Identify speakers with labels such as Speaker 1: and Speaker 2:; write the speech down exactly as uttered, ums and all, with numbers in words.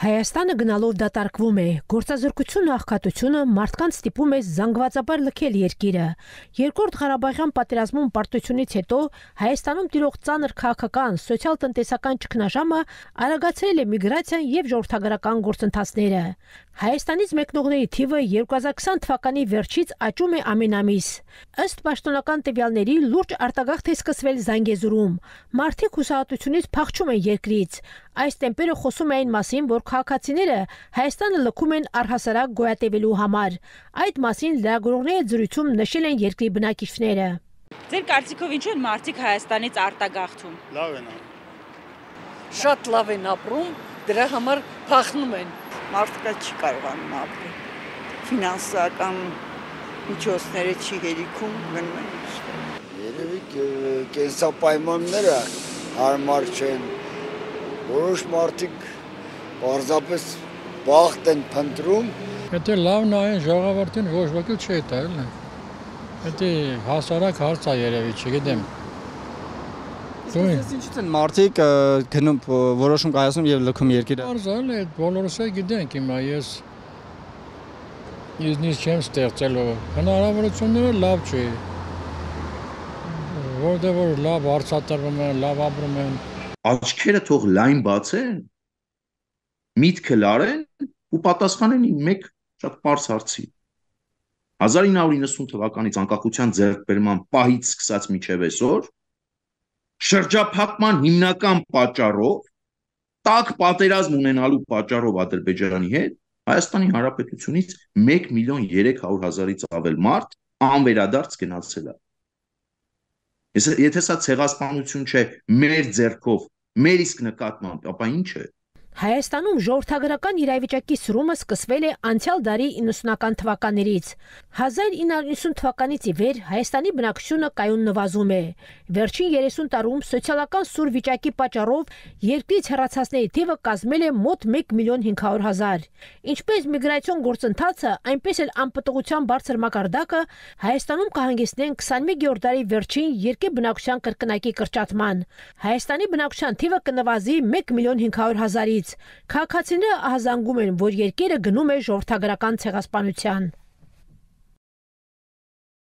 Speaker 1: Հայաստանը գնալով դատարկվում է, գործազրկությունը, աղքատությունը մարդկանց ստիպում է զանգվածաբար լքել երկիրը։ Երկրորդ Ղարաբաղյան պատերազմում պարտությունից հետո Հայաստանում տիրող ծանր քաղաքական, սոցիալ-տնտեսական ճգնաժամը արագացրել է միգրացիան եւ ժողովրդագրական գործընթացները։ Հայաստանից մեկնողների թիվը երկու հազար քսան թվականի վերջից աճում է ամեն ամիս։ Ըստ պաշտոնական տվյալների լուրջ արտագաղթ է սկսվել Զանգեզուրում։ Մարդիկ հուսահատությունից փախչում են երկրից։ Այս տեմպերը խոսում են այն մասին, որ քաղաքացիները Հայաստանը լքում են առհասարակ գոյատևելու համար։ Այդ մասին լրագրողների զրույցում նշել են երկրի բնակիչները։
Speaker 2: Ձեր կարծիքով ինչու են մարդիկ Հայաստանից արտագաղթում։
Speaker 3: Լավ են։
Speaker 4: Շատ լավ են ապրում, դրա համար փախնում են։
Speaker 5: Մարդկա չի կարողանում ապրել։ Ֆինանսական միջոցները չի հերիքում, գնում են ուստի։
Speaker 6: Երևի կենսապայմանները հարմար չեն։ Որոշ մարդիկ պարզապես բախտ են փնտրում։
Speaker 7: Եթե լավ նայեն ժողովրդին ոչ ոքի չի տալ։ Եթե հասարակ հարց է երևի, չգիտեմ։
Speaker 8: Իսկ ինչու՞ են մարդիկ գնում որոշում կայացնում եւ լքում երկիրը։
Speaker 7: Արզալ է, բոլորս է գիտենք հիմա ես իզնից չեմ ստեղծել, հնարավորությունները լավ չի։ Որտեղ որ լավ արծաթարվում են, լավ ապրում են։
Speaker 9: Աչքերը թող լայն բացեն, միտքը լարեն ու պատասխանեն մեկ շատ պարզ հարցի։ հազար ինը հարյուր իննսուն թվականից անկախության ձեռքբերման պահից սկսած մինչև այսօր շրջափակման հիմնական պատճառով տաք պատերազմ ունենալու պատճառով Ադրբեջանի հետ Հայաստանի Հանրապետությունից մեկ միլիոն երեք հարյուր հազարից ավել մարդ անվերադարձ գնացել է։ Եթե սա ցեղասպանություն չէ մեր ձեռքով, մեր իսկ նկատմամբ, ապա ինչ է։
Speaker 1: Հայաստանում ժողովրդագրական իրավիճակի սրումը սկսվել է անցյալ դարի իննսունական թվականներից։ հազար ինը հարյուր իննսուն թվականից ի վեր Հայաստանի բնակչությունը կայուն նվազում է։ Վերջին երեսուն տարում սոցիալական սուր վիճակի պատճառով երկրից հեռացածների թիվը կազմել է մոտ մեկ միլիոն հինգ հարյուր հազար։ Ինչպես միգրացիոն գործընթացը, այնպես էլ անպտղության բարձր մակարդակը Հայաստանում կհանգեցնեն քսանմեկերորդ դարի վերջին երկրի բնակչության կրկնակի կրճատման։ Հայաստանի բնակչության թիվը կնվազի մեկ միլիոն հինգ հարյուր հազարից։ Քաղաքացիները ահազանգում են, որ երկիրը գնում է ժողովրդագրական ցեղասպանության։